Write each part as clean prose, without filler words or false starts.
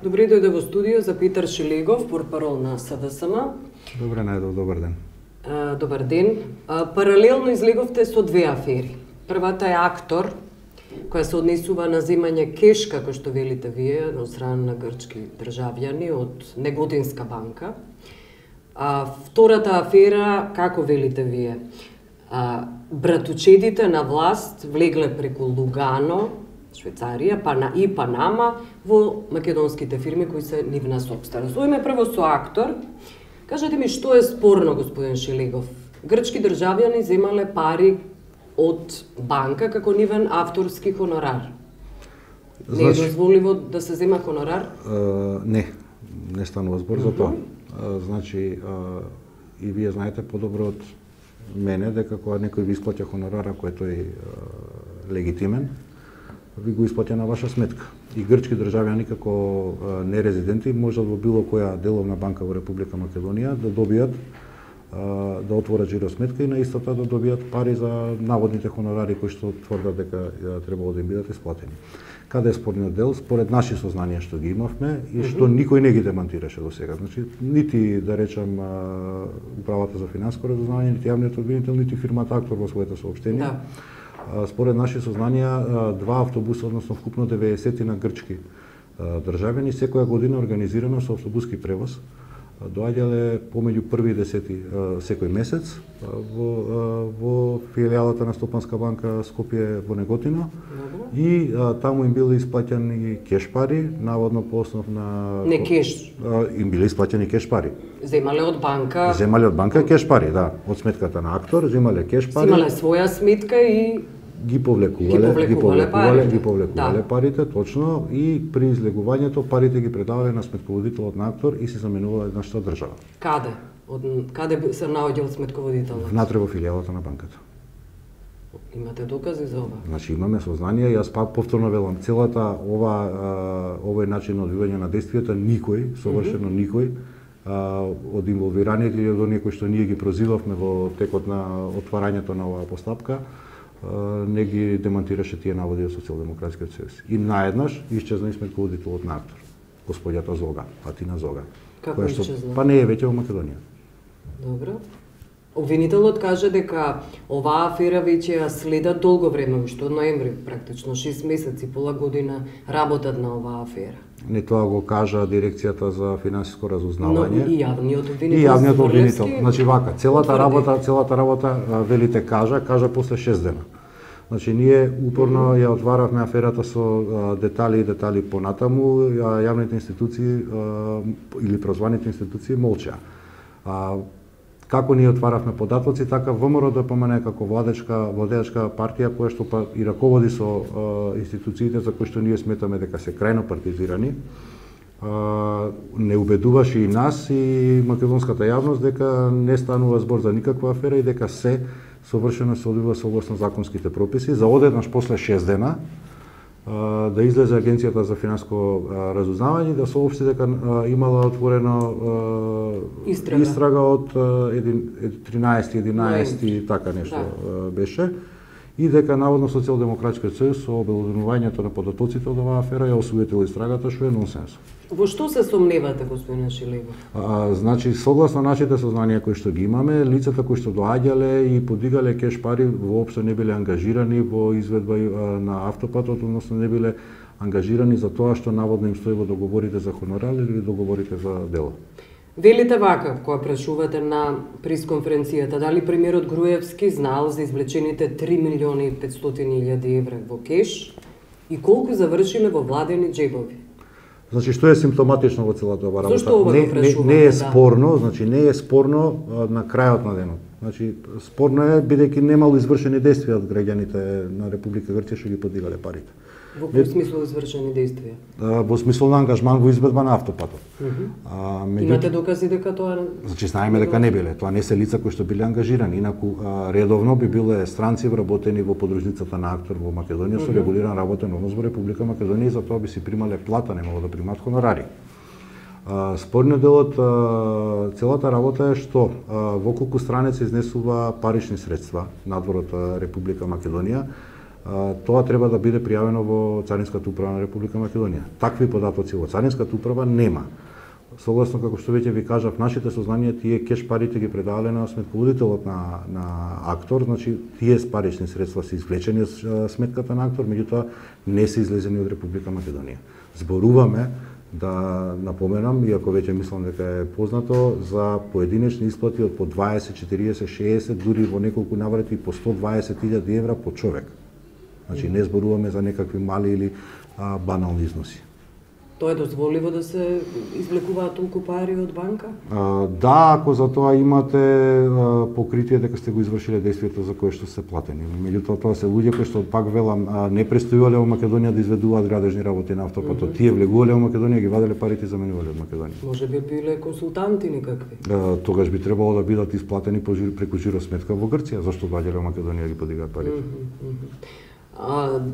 Добре дојде во студио за Питер Шилегов, портпарол на СДСМ. Добре најдов, добар ден. Добар ден. Паралелно излеговте со две афери. Првата е Актор, која се однесува на земање кеш, како што велите вие, од страна на грчки државјани од Неготинска банка. Втората афера, како велите вие, братучедите на власт влегле преку Лугано, Швейцарија, и Панама во македонските фирми кои се нивна сопственост. Ојме прво со Актор. Кажете ми што е спорно, господин Шилегов? Грчки државјани земале пари од банка како нивен авторски хонорар. Не е дозволиво да се зема хонорар? Не станува збор за тоа. Значи, и вие знаете подобро од мене дека кога некој ви исплаќа хонорар, ако е тој легитимен, ви го исплаќа на ваша сметка. И грчки државјани како нерезиденти можат во било која деловна банка во Република Македонија да добијат да отворат жиро сметка и на истата да добијат пари за наводните хонорари кои што тврдат дека требало да им бидат исплатени. Каде е спорниот дел? Според наши сознанија што ги имавме и што никој не ги демантираше до сега. Значи, нити да речам Управата за финансиско разузнавање, нити јавниот обвинител, нити фирмата Актор во своите соопштенија. Според наши сознанија, два автобуса, односно вкупно 90 на грчки државјани, секоја година организирано со автобуски превоз, доаѓале помеѓу први и 10 секој месец во филијалата на Стопанска банка Скопје во Неготино и таму им биле исплаќани кеш пари, наводно по основ на... Не кеш. Им биле исплаќани кеш пари. Земале од банка? Земале од банка кеш пари, да. Од сметката на Актор, земале кеш пари. Земале своја сметка и... Ги повлекувале парите, точно, и при излегувањето парите ги предавале на сметководителот на Актор и се заменувале нашата држава. Каде? Каде се наоѓал сметководителот? Внатре во филијалата на банката. Имате докази за ова? Значи имаме сознание, јас пак повторно велам, целата овој начин на одвивање на действијата никој, совршено никој, од инволвираните и од оние кои што ние ги прозивавме во текот на отварањето на оваа постапка, не ги демантираше тие наводи од Социјалдемократскиот сојуз. И наеднаш исчезна и сметководителот на Актор, господјата Зога, Атина Зога. Како исчезна? Па не е веќе во Македонија. Добро. Обвинителот каже дека оваа афера веќе ја следат долго време, уште од ноември, практично 6 месеци, пола година работат на оваа афера. Не тоа го кажа Дирекцијата за финансиско разузнавање. Но и јавниот обвинител. И јавниот обвинител. Значи вака, целата работа велите кажа после 6 дена. Значи ние упорно ја отваравме аферата со детали понатаму, јавните институции или прозваните институции молчеа. Како ние отваравме податоци, така ВМРО ДПМН како владеачка партија која што па и раководи со институциите за кои што ние сметаме дека се крајно партизирани, не убедуваше и нас и македонската јавност дека не станува збор за никаква афера и дека се совршено се одвива согласно законските прописи. За одеднаш после 6 дена да излезе Агенцијата за финансиско разузнавање да соопшти дека имала отворено истрага од 13-11 така нешто беше и дека наводно Социјалдемократскиот сојуз со обелоденувањето на податоците од оваа афера ја осуетила истрагата, што е нонсенс. Во што се сомневате, господин Шилегов? Значи, согласно нашите сознанија кои што ги имаме, лицата кои што доаѓале и подигале кеш пари воопшто не биле ангажирани во изведба на автопатот, односно не биле ангажирани за тоа што наводно им стои во договорите за хонорар или договорите за дело. Велите вака, кога прашувате на пресконференцијата, дали премиерот Груевски знаел за извлечените 3.500.000 евра во кеш и колку завршиле во владени джебови? Значи, што е симптоматично во целата оваа работа? Зошто ова го прашувате? Не е спорно, значи не е спорно на крајот на денот. Значи, спорно е бидејќи немало извршени действија од граѓаните на Република Грција што ги подигале парите. Во кој смисол извршени действија? Во смисол на ангажман во изведба на автопатот. Имате докази дека тоа... Значи, знаеме дека не биле. Тоа не се лица кои што биле ангажирани. Инаку, редовно би биле странци вработени во подружницата на Актор во Македонија со регулиран работен однос во Република Македонија и за тоа би си примале плата, немало да примат хонорари. Спорниот дел од целата работа е што во колку страни се изнесува парични средства надвор од Република Македонија, тоа треба да биде пријавено во Царинската управа на Република Македонија. Такви податоци во Царинската управа нема. Согласно како што веќе ви кажав, нашите сознанија, тие кеш парите ги предале на сметководителот на актор, значи тие парични средства се извлечени од сметката на актор, меѓутоа не се излезени од Република Македонија. Зборуваме, да напоменам, иако веќе мислам дека е познато, за поединечни исплати од по 20, 40, 60, дури во неколку наврати по 120.000 евра по човек. Значи не зборуваме за некакви мали или банални износи. Тоа е дозволиво да се извлекуваат толку пари од банка? Да, ако за тоа имате покритие дека сте го извршиле действието за кое што се платени. Меѓутоа тоа се луѓе кои што, пак велам, не престојувале во Македонија да изведуваат градежни работи на автопатот. Тие влегувале во Македонија, ги ваделе парите и заменувале од Македонија. Може би биле консултанти никакви? Тогаш би требало да бидат исплатени преку жиросметка во Грција, зашто доаѓале во Македонија ги подигаат парите.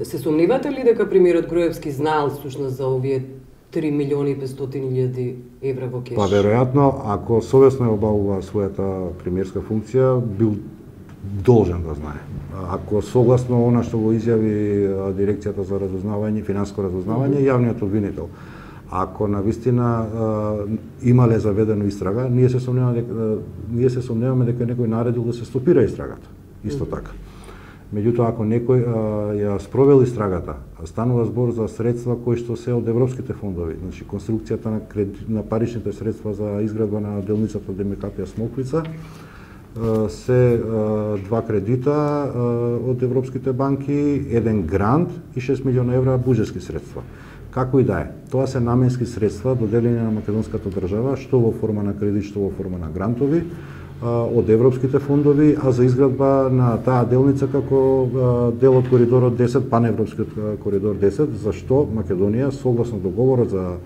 Се сомнивате ли дека премиерот Груевски знаел всушност за овие 3.500.000 евра во кеш? Па веројатно, ако совесно ја обавува својата премиерска функција, бил должен да знае. Ако согласно она што го изјави дирекцијата за разузнавање, финансиско разузнавање, јавниот обвинител, ако навистина имале заведено истрага, ние се сомневаме дека некој наредил да се стопира истрагата. Исто така. Меѓутоа, ако некој ја спровел истрагата, станува збор за средства кои што се од европските фондови, значи конструкцијата на паричните средства за изградба на делницата ДМКП Смоквица, се два кредита од европските банки, еден грант и 6 милиона евра буџетски средства. Како и да е, тоа се наменски средства доделени на македонската држава, што во форма на кредит, што во форма на грантови, од европските фондови, а за изградба на таа делница како дел од коридорот 10, паневропскиот коридор 10, за што Македонија, согласно договорот за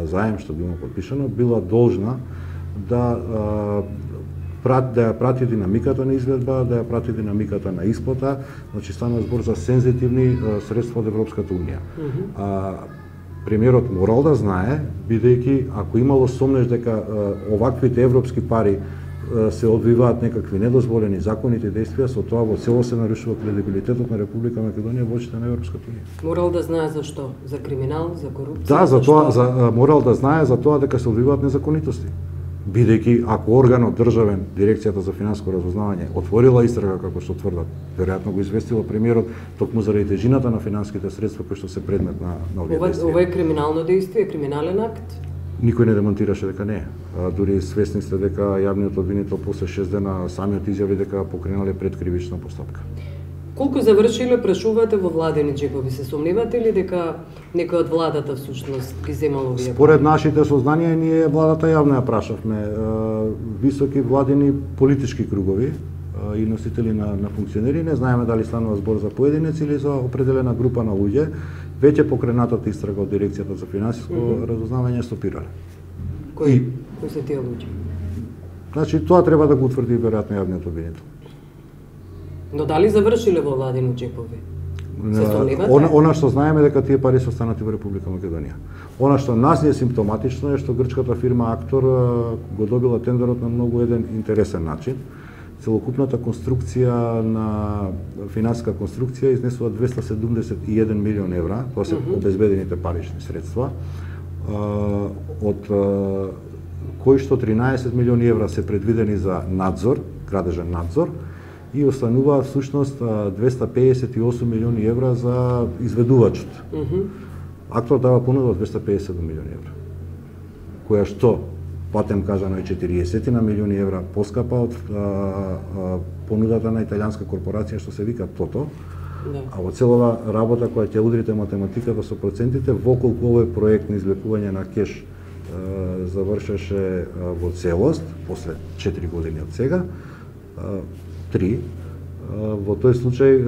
заем што било подпишано, била должна да ја прати динамиката на изградба, да ја прати динамиката на исплата, значи станува збор за сензитивни средства од Европската унија. Премиерот морал да знае, бидејќи ако имало сомнеж дека оваквите европски пари се одвиваат некакви недозволени законите и действија, со тоа во цело се нарушува кредибилитетот на Република Македонија во очите на Европската унија. Морал да знае за што? За криминал, за корупција? Да, за тоа, морал да знае за тоа дека се одвиваат незаконитости. Бидејќи ако органот државен, дирекцијата за финансиско разузнавање, отворила истрага како што тврдат, веројатно го известила премиерот токму заради тежината на финансиските средства кои што се предмет на овие действија. Ова е криминално действие, криминален акт? Никој не демонтираше дека не е. Дури свесни сте дека јавниот обвинител после 6 дена самиот изјави дека покренале предкривична постапка. Колку завршиле прашувате во владени џепови? Се сомневате ли дека некој од владата всушност ги земал овие? Според нашите сознанија, ние владата јавно ја прашавме. Високи владени политички кругови и носители на функционери, не знаеме дали станува збор за поединец или за определена група на луѓе, веќе покренатата истрага од дирекцијата за финансиско разузнавање стопирале. Кои се тие луѓе? Значи тоа треба да го утврди веројатно јавниот обвинител. Но дали завршиле во владени џепови? Се сомневате? Она што знаеме дека тие пари се останати во Република Македонија. Она што нас е симптоматично е што грчката фирма Актор го добила тендерот на многу еден интересен начин. Целокупната конструкција на финансиска конструкција изнесува 271 милион евра, тоа се обезбедените парични средства, од кои што 13 милиони евра се предвидени за надзор, градежен надзор, и остануваат всушност 258 милиони евра за изведувачот. Актор дава понуда од 257 милиони евра, која што платем кажано е 40 милиони евра поскапа од понудата на италијанска корпорација што се вика Тото. А во целова работа која ќе удрите математиката со процентите, воколку овој проект на извлекување на кеш завршеше во целост, после 4 години од сега, 3, во тој случај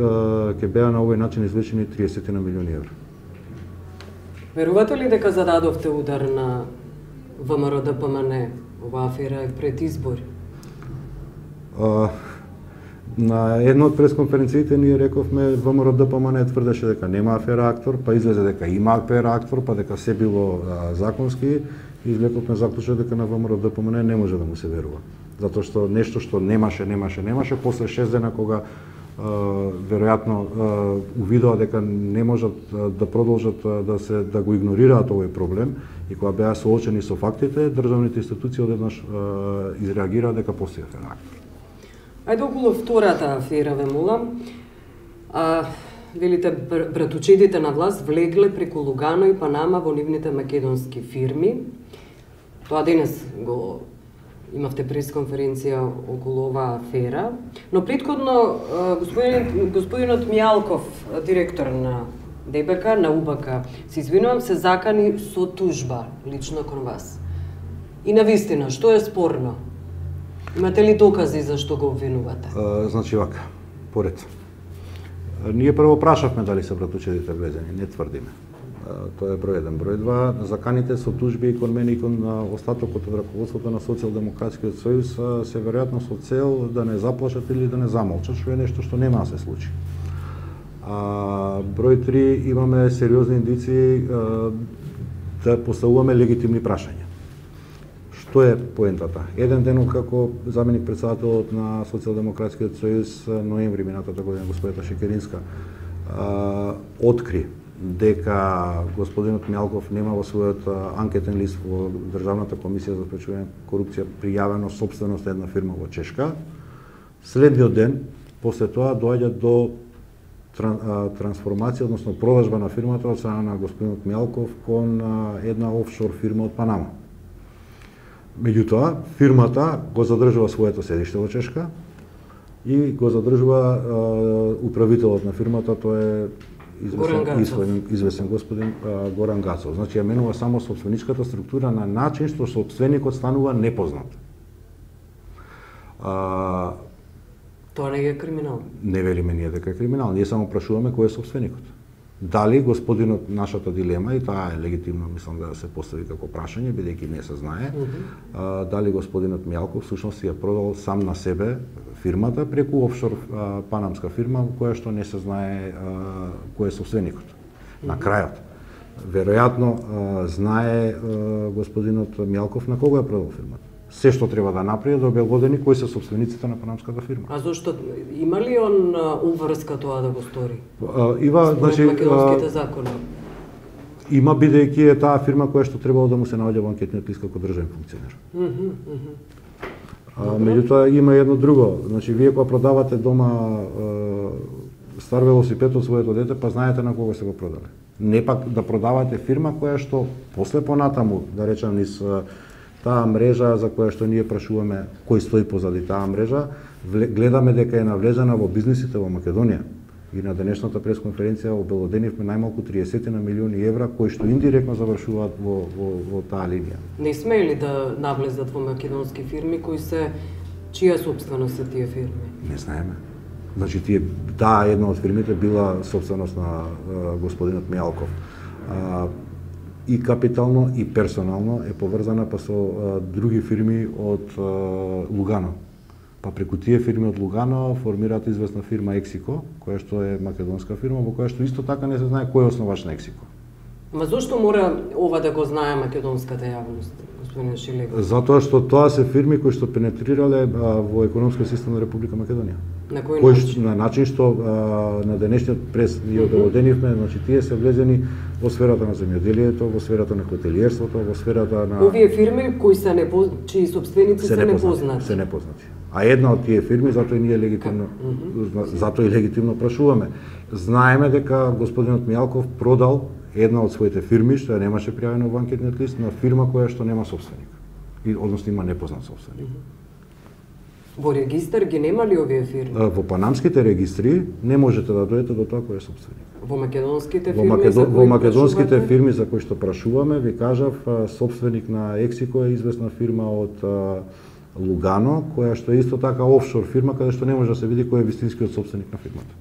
ќе беа на овој начин извлечени 30 милиони евра. Верувате ли дека зададовте удар на ВМРО ДПМН, ова афера е пред избори? На една од пресконференциите ние рековме ВМРО ДПМН тврдеше дека нема афера Актор, па излезе дека има афера Актор, па дека се било законски, и извлековме заклучок дека на ВМРО ДПМН не може да му се верува. Затоа што нешто што немаше, после 6 дена кога веројатно увидоа дека не можат да продолжат да го игнорираат овој проблем и кога беа соочени со фактите, државните институции одеднаш изреагираа дека постои афера. Ајде околу втората афера ве молам. Велите братучедите на власт влегле преку Лугано и Панама во нивните македонски фирми. Тоа денес го имавте пресконференција околу оваа афера, но претходно господинот Мјалков, директор на ДБК, на УБК, се извинувам, се закани со тужба лично кон вас. И навистина, што е спорно? Имате ли докази за што го обвинувате? Значи вака, поред. Ние прво прашавме дали се братучедите влезени, не тврдиме. Тоа е број 1. Број 2, заканите со тужби и кон мене и кон остатокот од раководството на Социјалдемократскиот сојуз се веројатно со цел да не заплашат или да не замолчат, што е нешто што нема да се случи. Број 3, имаме сериозни индиции да поставуваме легитимни прашања. Што е поентата? Еден ден како заменик председателот на Социјалдемократскиот сојуз ноември минатата година господината Шекеринска откри дека господинот Мјалков нема во својот анкетен лист во Државната комисија за спречување корупција пријавено сопственост една фирма во Чешка. Следниот ден, после тоа доаѓа до трансформација, односно продажба на фирмата од страна на господинот Мјалков кон една офшор фирма од Панама. Меѓутоа, фирмата го задржува своето седиште во Чешка и го задржува управителот на фирмата, тоа е известен господин Горан Гацов. Значи, ја менува само собственичката структура на начин што собственикот станува непознат. Тоа не е криминал? Не велиме ние дека е криминал, ние само прашуваме кој е собственикот. Дали господинот, нашата дилема, и таа е легитимно, мислам да се постави како прашање, бидејќи не се знае, дали господинот Мјалков всушност ја продал сам на себе фирмата преку офшор панамска фирма, која што не се знае кој е собственикот. На крајот, веројатно знае господинот Мјалков на кого ја продал фирмата. Се што треба да направи да обелодени кои се собствениците на панамската фирма. А зошто има ли он уврска тоа да го стори? Има, значи, македонските закони. Има, бидејќи е таа фирма која што требало да му се наоѓа во анкетниот лист како државен функционер. Меѓутоа има едно друго, значи вие кога продавате дома стар велосипед од своето дете, па знаете на кого се го продале. Не пак да продавате фирма која што после понатаму, да речам, низ таа мрежа за која што ние прашуваме кој стои позади таа мрежа, гледаме дека е навлезена во бизнисите во Македонија. И на денешната пресконференција обелоденивме најмалку 30 милиони евра кои што индиректно завршуваат во таа линија. Не смели да навлезат во македонски фирми кои се чија собственост се тие фирми? Не знаеме. Значи таа една од фирмите била собственост на господинот Мјалков. И капитално и персонално е поврзана па со други фирми од Лугано. Па преку тие фирми од Лугано формираат известна фирма Ексико, која што е македонска фирма, во која што исто така не се знае кој е основач на Ексико. Ма зошто мора ова да го знае македонската јавност, господин Шилегов? Затоа што тоа се фирми кои што пенетрирале во економскиот систем на Република Македонија. На кој начин? На начин што на денешниот прес ние обелоденивме, значи тие се влезени во сферата на земјоделието, во сферата на хотелиерството, во сферата на овие фирми кои се чии собственици се непознати. Се непознати. А една од тие фирми, затоа и ние легитимно затоа и легитимно прашуваме. Знаеме дека господинот Мјалков продал една од своите фирми што ја немаше пријавено во анкетниот лист на фирма која што нема собственик. И односно има непознат собственик. Во регистар ги нема ли овие фирми? Во панамските регистри не можете да дојдете до тоа кој е собственик. Во македонските фирми во македонските фирми за кои што прашуваме, ви кажав, собственик на Ексико е известна фирма од Лугано, која што е исто така офшор фирма, каде што не може да се види кој е вистинскиот собственик на фирмата.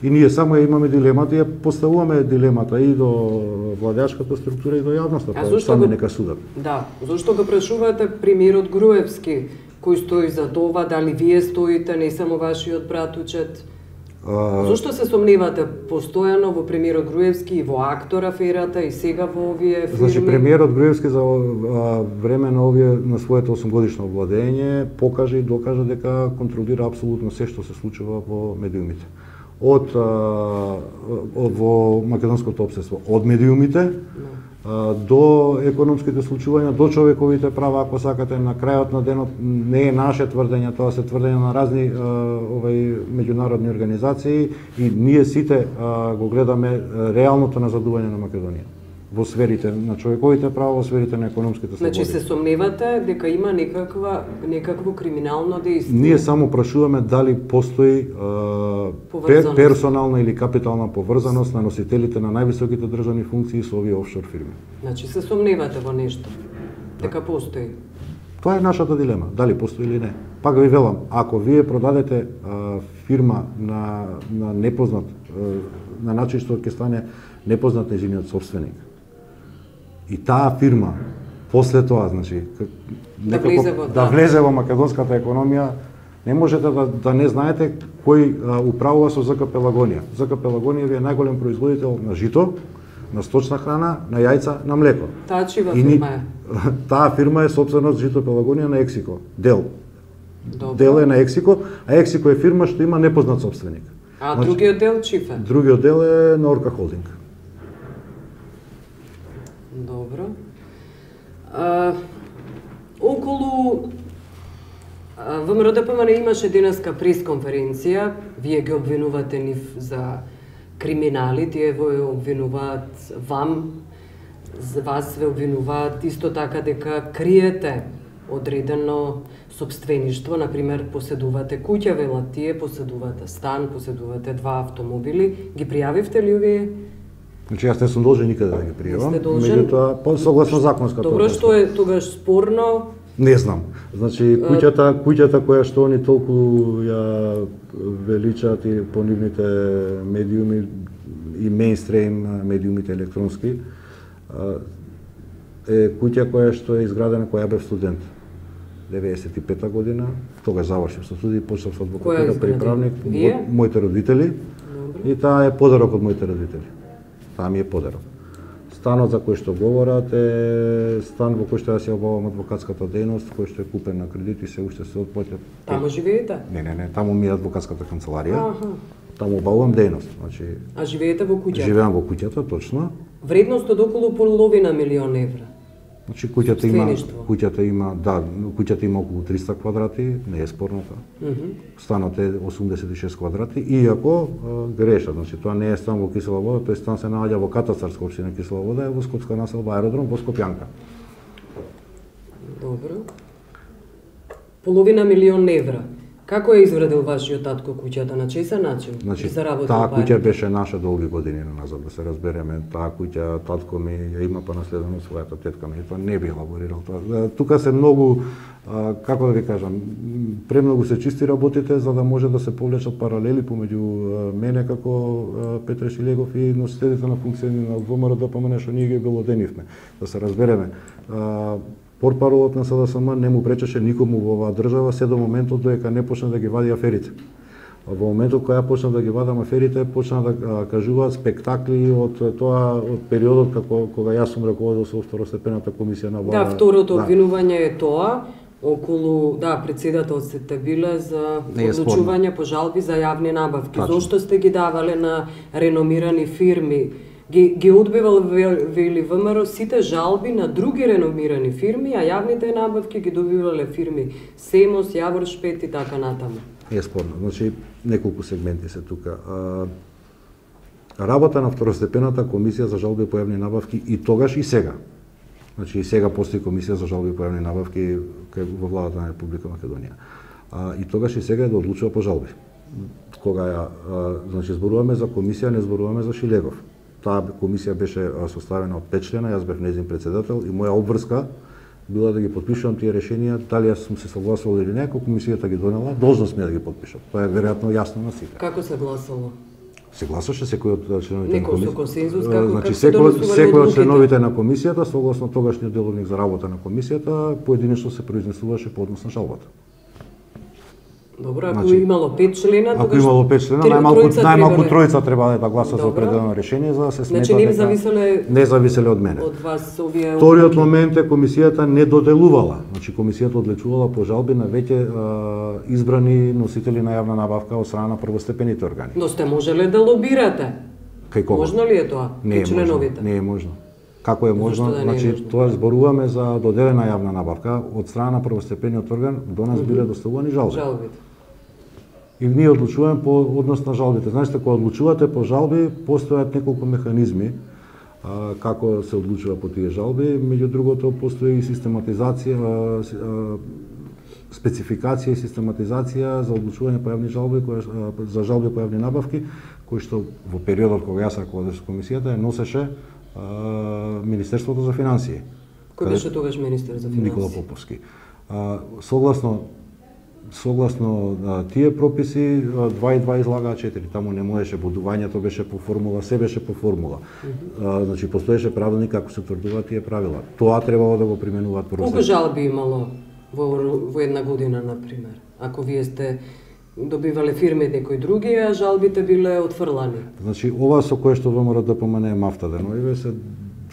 И ние само имаме дилемата и ја поставуваме дилемата и до владеачката структура и до јавноста, па сами нека судат. Да, зошто го прашувате премиерот Груевски, кој стои за тоа, дали вие стоите, не само вашиот братучет? Зошто се сомневате постојано во премиерот Груевски и во актор аферата и сега во овие фирми? Значи премиерот Груевски за време на овие на своето 8-годишно владење покажа и докажа дека контролира апсолутно се што се случува во медиумите. Во македонското општество, од медиумите до економските случувања, до човековите права, ако сакате, на крајот на денот не е наше тврдење, тоа се тврдење на разни меѓународни организации и ние сите го гледаме реалното назадување на Македонија во сферите на човековите права, во сферите на економските слободи. Значи се сомневате дека има некакво криминално дејство? Ние само прашуваме дали постои персонална или капитална поврзаност на носителите на највисоките државни функции со овие офшор фирми. Значи се сомневате во нешто? Дека постои? Тоа е нашата дилема, дали постои или не. Пак ви велам, ако вие продадете фирма на непознат, на начин што ќе стане непознат нејзиниот собственик, и таа фирма после тоа, значи, да влезе во македонската економија, не можете да не знаете кој управува со ЗК Пелагонија. ЗК Пелагонија ви е најголем производител на жито, на сточна храна, на јајца, на млеко. Таа чива фирма е? Таа фирма е собственост Жито Пелагонија на Ексико. Дел. Добро. Дел е на Ексико, а Ексико е фирма што има непознат собственик. А значи, другиот дел чиф е? Другиот дел е на Орка Холдинг. Добро. Околу ВМРО-ДПМН имаше денеска пресконференција, вие ги обвинувате нив за криминали, тие ве обвинуваат вас ве обвинуваат исто така дека криете одредено собствеништво, например поседувате куќа, велат тие, поседувате стан, поседувате 2 автомобили, ги пријавивте ли овие? Значи јас не сум должен никаде да ги пријавам, меѓутоа согласно законската. Добро, што е тогаш спорно? Не знам. Значи куќата која што они толку ја величаат и по нивните медиуми и мејнстрейм медиумите електронски, е куќа која што е изградена која бев студент. 95-та година, тогаш завршив со студии, почнав со адвокатура, приправник, моите родители. И таа е подарок од моите родители. Таа ми е подарок. Станот за кој што говорат е стан во кој што јас ја обавам адвокатската дејност, кој што е купен на кредит и се уште се отплаќа. Таму живеете? Не, таму ми е адвокатската канцеларија. Таму обавувам дејност, значи. А живеете во куќата? Живеам во куќата, точно. Вредност од околу половина милион евра. Значи куќата има околу 300 квадрати, не е спорно тоа. Станот е 86 квадрати, иако грешат, значи тоа не е стан во Кисела Вода, тој стан се наоѓа во катастарска општина Кисела Вода, е во Скопска населба аеродром во Скопјанка. Добро. Половина милион евра. Како е извредил вашиот татко куќата, на чесен начин? Значи, таа куќа беше наша долги години назад, да се разбереме. Таа куќа татко ми ја има па наследено својата тетка ми, тоа не би елаборирал тоа. Тука се многу, како да ви кажам, премногу се чисти работите за да може да се повлечат паралели помеѓу мене како Петре Шилегов и носителите на функции на ВМРО-ДПМН што ние ги белоденивме. Да се разбереме. Портпаролот на СДСМ не му пречеше никому во оваа држава се до моментот додека не почна да ги вади аферите. Во моментот кога почна да ги вадам аферите, почна да кажуваат спектакли од периодот кога јас сум раководел со второстепената комисија на влада. Да, второто обвинување е тоа, околу, председателството биле за одлучување по жалби за јавни набавки. Зошто сте ги давале на реномирани фирми? Ги одбивал вели ВМРО сите жалби на други реномирани фирми, а јавните набавки ги добивале фирми Семос, Јавор Шпет и така натаму. Е спорно. Значи, неколку сегменти се тука. Работа на второстепената комисија за жалби по јавни набавки и тогаш и сега. Значи и сега постои комисија за жалби по јавни набавки во владата на Република Македонија. И тогаш и сега е да одлучува по жалби. Кога значи зборуваме за комисија, не зборуваме за Шилегов. Таа комисија беше составена од 5 члена, јас бев нејзин председател и моја обврска била да ги потпишувам тие решенија, дали јас сум се согласувал или не, ако комисијата ги донела, должност ми е да ги потпишам. Тоа е веројатно јасно на сите. Како се гласало? Се гласаше секој од членовите на комисијата. Некој со консензус, како значи, секој од членовите на комисијата, согласно тогашниот деловник за работа на комисијата, поединечно се произнесуваше по однос на жалбата. Добро, ако имало 5 члена, ако имало 5 члена, најмалку тројца треба да гласа за определено решение за да се смета дека не зависеле од мене. Од вас овие. Вториот момент е комисијата не доделувала. Значи комисијата одлучувала по жалби на веќе избрани носители на јавна набавка од страна на првостепените органи. Но сте можеле да лобирате. Кај кого? Можно ли е тоа? Не е членовите? Не е можно. Како е можно? Да значи тоа зборуваме за доделена јавна набавка од страна на првостепениот орган, до нас биле доставувани жалби. Жалбите. И ние одлучуваме по однос на жалбите. Знаете, кога одлучувате по жалби, постојат неколку механизми како се одлучува по тие жалби. Меѓу другото, постои и систематизација, спецификација и систематизација за одлучување по јавни жалби, за жалби по јавни набавки, кои што во периодот кога јас раководеше комисијата ја носеше Министерството за финансии. Кој беше тогаш министер за финансии? Никола Поповски. Согласно тие прописи 2 и 2 излагаа 4. Таму не можеше будувањето, беше по формула, се беше по формула. Значи постоеше правилник како се утврдуваат тие правила. Тоа требало да го применуваат прво. Колку жалби имало во една година, на пример? Ако вие сте добивале фирми од некои други, а жалбите биле отфрлани. Значи ова со кое што ВМРО да помене мафта деноиве се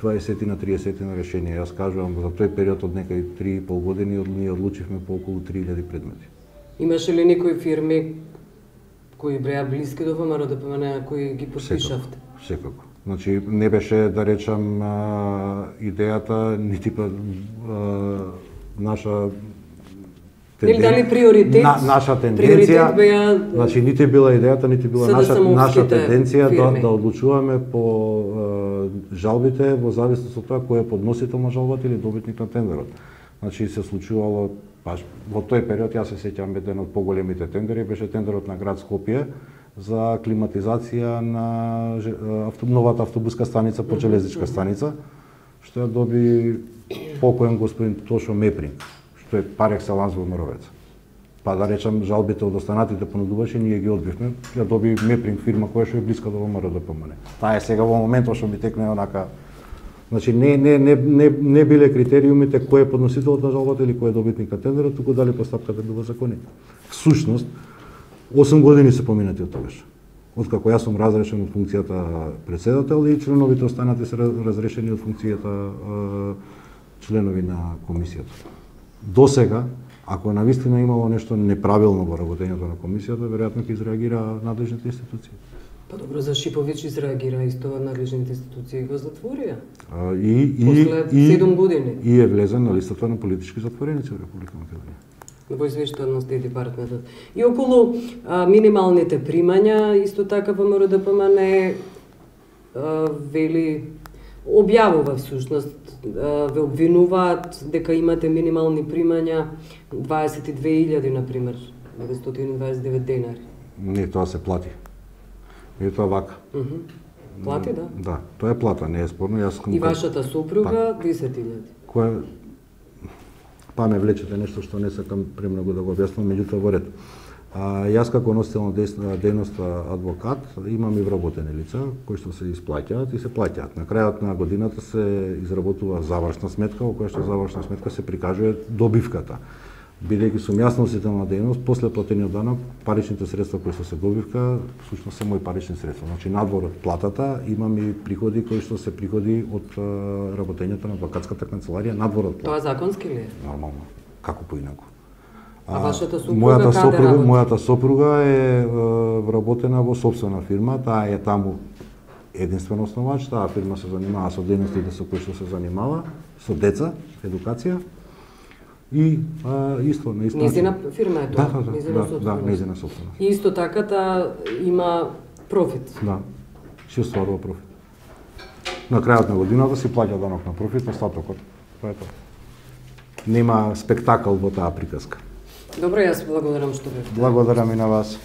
20 на 30 на решенија. Јас кажувам за тој период од некај 3,5 години ние одлучивме по околу 3000 предмети. Имаше ли некои фирми кои бреа блиски до ВМРО да помене, кои ги подпишавте? Секако. Значи не беше, да речам, идејата нити наша тенденција. Дали приоритет? Наша тенденција, значи нити била идејата, нити била наша тенденција да одлучуваме по жалбите во зависност од тоа кој е подносител на жалбата или добитник на тендерот. Значи се случувало баш во тој период, јас се сеќавам еден од поголемите тендери беше тендерот на град Скопје за климатизација на новата автобуска станица по железничка станица, што ја доби покоен господин Тошо Мепринг, што е пар екселанс во Моровец. Па да речам, жалбите од останатите понудувачи ние ги одбивме, ја доби Мепринг фирма која што е блиска до ВМРО да помане. Таа е сега во моментот што би текне онака. Значи не биле критериумите кој е подносителот на жалбата или кој е добитник на тендерот, туку дали постапката била законита. Всушност 8 години се поминати од тогаш. Откако јас сум разрешен од функцијата председател и членовите останати се разрешени од функцијата членови на комисијата. До сега, ако навистина имало нешто неправилно во работењето на комисијата, веројатно ќе изреагира надлежните институции. Па добро, за Шиповиќ изреагира исто надлежните институции го затворија. После 7 години. И е влезен на листата на политички затвореници во Република Македонија. Во извештајот на Стејт департментот. И околу минималните примања, исто така ВМРО ДПМН вели, објавува всушност, ве обвинуваат дека имате минимални примања 22.000, например, 929 денари. Не, тоа се плати. И тоа вака. Плати, да? Да, тоа е плата, не е спорно. И вашата супруга 10.000. Која па ме влечете нешто што не сакам премногу да го објаснам, меѓутоа во ред. Јас како носител на дејност адвокат имам и вработени лица кои што се исплаќаат и се плаќаат. На крајот на годината се изработува завршна сметка, во која што завршна сметка се прикажува добивката. Бидејќи сум јас носител на дејност, после платениот данок, паричните средства кои што се добивка, всушност се мои парични средства. Значи надвор од платата имам и приходи кои што се приходи од работењето на адвокатската канцеларија, надвор од платата. Тоа законски ли е? Нормално. Како поинаку? А вашата супруга каде работи? Мојата сопруга е вработена во сопствена фирма, таа е таму единствен основач, таа фирма се занимава со дејностите со кои што се занимава, со деца, едукација. И исто на исто. Незина фирма е тоа. Да, незина сопственост. И исто така има профит. Да. Си остварува профит. На крајот на годината си плаќа данок на профит, остатокот. Тоа е тоа. Нема спектакл во таа приказка. Добро, јас благодарам што бевте. Благодарам и на вас.